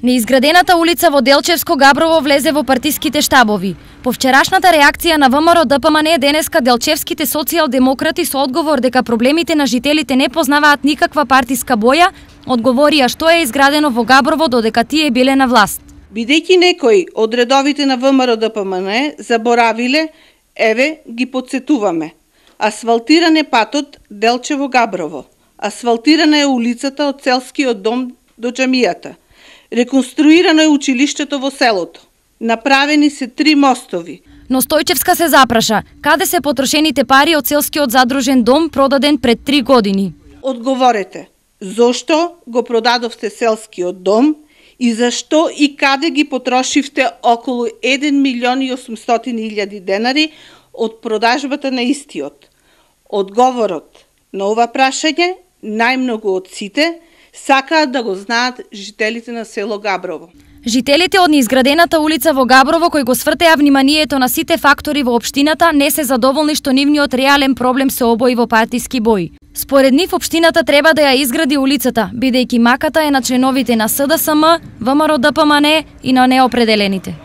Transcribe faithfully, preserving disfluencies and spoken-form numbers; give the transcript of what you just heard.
Неизградената улица во Делчевско Габрово влезе во партиските штабови. По вчерашната реакција на ВМРО Д П М Н денеска делчевските социјалдемократи со одговор дека проблемите на жителите не познаваат никаква партиска боја, одговорија што е изградено во Габрово додека тие биле на власт. Бидејќи некои од редовите на ВМРО Д П М Н заборавиле, еве ги потсетуваме. Асфалтиран е патот Делчево-Габрово. Асфалтирана е улицата од Селскиот дом до џамијата. Реконструирано е училиштето во селото. Направени се три мостови. Но Стојчевска се запраша, каде се потрошените пари од Селскиот задружен дом продаден пред три години? Одговорете, зошто го продадовте Селскиот дом и зашто и каде ги потрошивте околу еден милион и осумстотини илјади денари од продажбата на истиот? Одговорот на ова прашање, најмногу од сите, сакаат да го знаат жителите на село Габрово. Жителите од неизградената улица во Габрово, кои го свртеа вниманието на сите фактори во општината, не се задоволни што нивниот реален проблем се обои во партиски бои. Според нив, општината треба да ја изгради улицата, бидејќи маката е на членовите на С Д С М, ВМРО Д П М Н и на неопределените.